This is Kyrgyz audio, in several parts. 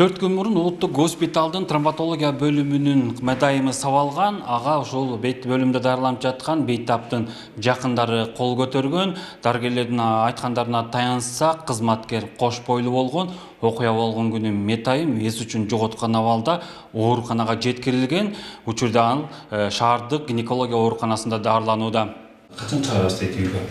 4 күн мурун улуттук госпиталдын травматология бөлүмүнүн медайымы сабалган, ага ошол бөлүмдө дарыланып жаткан бейтаптын жакындары кол көтөргөн. Дарыгерлердин айткандарына таянсак, кызматкер кош бойлуу болгон. Окуя болгон күнү медайым эс үчүн жоготкон абалда ооруканага жеткирилген. Учурда ал шаардык гинекология ооруканасында дарыланууда. Качан чыгарасыз үйгө?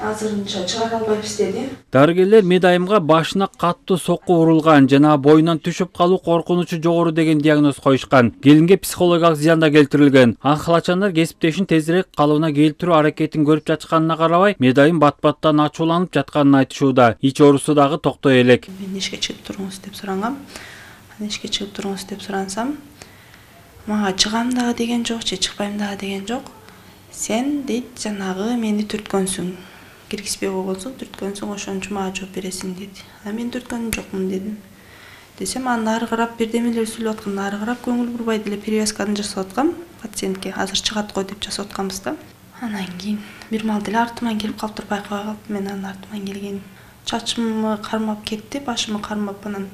Азырынча чыгара албайбыз деди. Дарыгерлер медайымга башына каттуу сокку урулган жана боюнан түшүп калуу коркунучу жогору деген диагноз коюшкан. Келинге психологиялык зыян да келтирилген. Анхалачандар кесиптешин тезирээк калыбына келтирүү аракетин көрүп жатышканына карабай, медайым бат-баттан ачууланып жатканын айтышууда. Ич оорусу дагы токтой элек. Мен ишке чыгып туруңуз деп сурангам. Ишке чыгып туруңуз деп сурансам, мага чыгам дагы деген жок, чыкпайм дагы деген жок. Сен дейт жанагы мени түрткөнсүң. Киргизбей койгонсуң, түрткөнсүң, ошон үчүн мага жооп бересиң деди. Мен түрткөн жокмун дедим. Десем, анын ары карап бирдемелер сүйлөп аткан, ары карап көңүл бурбай деле перевязканы жасап аткам пациентке. Азыр чыгат го деп жасап атканбыз да. Анан кийин бир мал деле артыман келип калыптыр, байкабай калыптым мен анын артыман келгенин. Чачымды кармап кетти, башымды кармап, анан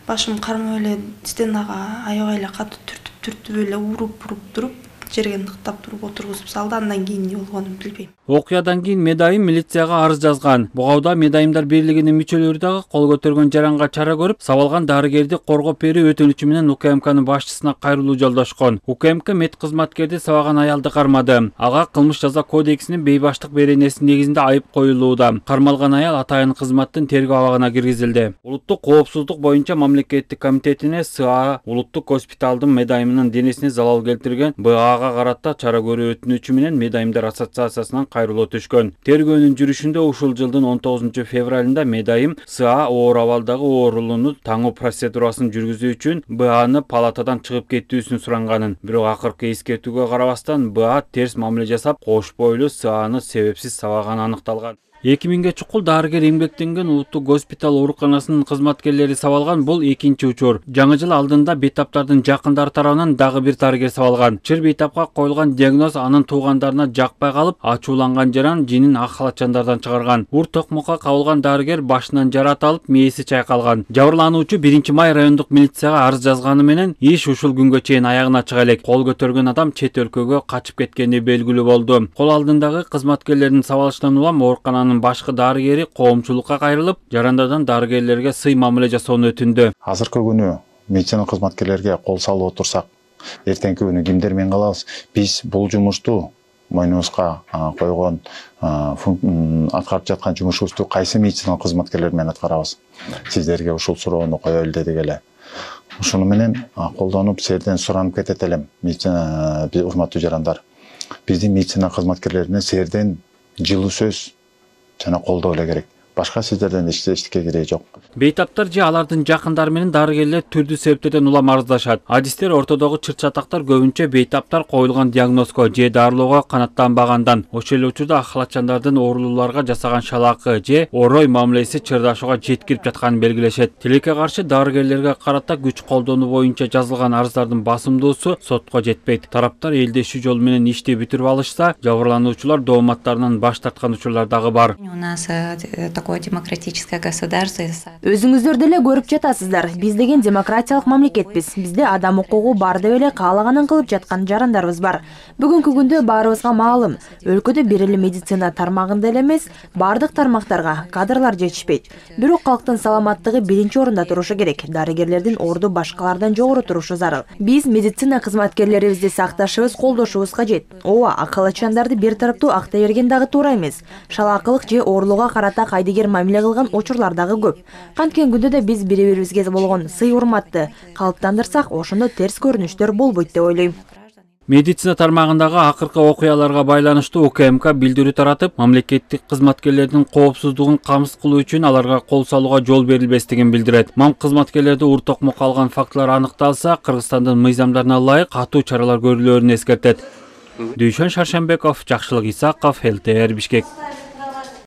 башымды кармап эле стенага аябай эле катуу түртүп эле уруп туруп жерге ныктап туруп отургузуп салды. Андан кийин эмне болгонун билбейм. Окуядан кийин медайым милицияга арыз жазган. Бугауда Медайымдар бирлигинин мүчөлөрү дагы кол көтөргөн жаранга чара көрүп, сабалган дарыгерди коргоп берүү өтүнүчү менен УКМКнын башчысына кайрылуу жолдошкон. УКМК мед кызматкерди сабаган аялды кармады. Ага кылмыш жаза кодексинин бейбаштык беренеси негизинде айып коюлууда. Кармалган аял атайын кызматтын тергөө абагына киргизилди. Улуттук коопсуздук боюнча мамлекеттик комитетине СА улуттук госпиталдын медайымынын денесине залал келтирген БАга карата чара көрүү өтүнүчү менен Медайымдар ассоциациясынан кайрылуу түшкөн. Тергөөнүн жүрүшүндө ушул жылдын 19 февралында медайым СА оор абалдагы оорулууну таңуу процедурасын жүргүзүү үчүн БАны палатадан чыгып кетүүсүн суранганын. Бирок акыркы эскертүүгө карабастан БА терс мамиле жасап, кош бойлуу САны себепсиз сабаганы аныкталган. 2000ге чукул дарыгер эмгектенген улуттук госпитал ооруканасынын кызматкерлери сабалган. Бул экинчи учур. Жаңы жыл алдында бейтаптардын жакындары тарабынан дагы бир дарыгер сабалган. Чыр бейтапка коюлган диагноз анын туугандарына жакпай калып, ачууланган жаран жинин ак халатчандардан чыгарган. Ур токмокко кабылган дарыгер башынан жарат алып, мээси чайкалган. Жабырлануучу 1-май райондук милицияга арыз жазганы менен иш ушул күнгө чейин аягына чыга элек. Кол көтөргөн адам чет өлкөгө качып кеткени белгилүү болду. Кол алдындагы кызматкерлердин сабалыштан улам оорукананын башкы дарыгери коомчулукка кайрылып, жарандардан дарыгерлерге сый мамиле жасоону өтүндү. Азыркы күнү медицина кызматкерлерге кол салып отурсак, эртеңки күнү кимдер менен калабыз? Биз бул жумушту мойнубузга койгон, аткарып жаткан жумушубузду кайсы медицина кызматкерлер менен аткарабыз? Сиздерге ушул суроону коелу дедик эле. Ушуну менен колдонуп, силерден суранып кетет элем, медицина урматтуу жарандар. Биздин медицина кызматкерлерине силерден жылуу сөз жана колдоо эле керек. Башка сиздерден эчтеке кереги жок. Бейтаптар же алардын жакындары менен дарыгерлер түрдүү себептерден улам арыздашат. Адистер ортодогу чыр-чатактар көбүнчө бейтаптар коюлган диагнозго же дарылоого канааттанбагандан, ошол эле учурда ак халатчандардын оорулууларга жасаган шалакы же орой мамилеси чырдашууга жеткирип жатканын белгилешет. Тилекке каршы дарыгерлерге карата күч колдонуу боюнча жазылган арыздардын басымдуусу сотко жетпейт. Тараптар элдешүү жол менен ишти бүтүрүп алышса, жабырлануучулар дооматтарынан баш тарткан учурлар дагы бар. Демократическое государство. Өзүңүздөр деле көрүп жатасыздар. Биз деген демократиялык мамлекетпиз. Бизде адам укугу бар деп эле каалаганын кылып жаткан жарандарыбыз бар. Бүгүнкү күндө баарыбызга маалым, өлкөдө бир эле медицина тармагында эле эмес, бардык тармактарга кадрлар жетишпейт. Бирок калктын саламаттыгы биринчи орунда турушу керек. Дарыгерлердин орду башкалардан жогору турушу зарыл. Биз медицина кызматкерлерибизди сакташыбыз, колдошубуз кажет. Ооба, ак халатчандарды бир тараптуу актай берген дагы туура эмес. Шалаакылык же оорулууга карата кайдыгер мамиле кылган учурлар дагы көп. Канткен күндө да биз бири-бирибизге болгон сый урматты калыптандырсак, ошондо терс көрүнүштөр болбойт деп ойлойм. Медицина тармагындагы акыркы окуяларга байланыштуу УКМК билдирүү таратып, мамлекеттик кызматкерлердин коопсуздугун камсыз кылуу үчүн аларга кол салууга жол берилбестигин билдирет. Мам кызматкерлерди ур токмокко алган фактылар аныкталса, Кыргызстандын мыйзамдарына ылайык катуу чаралар көрүлөөрүн эскертет. Дүйшөн Шаршембеков, Жакшылык Исаков, ЛТР Бишкек.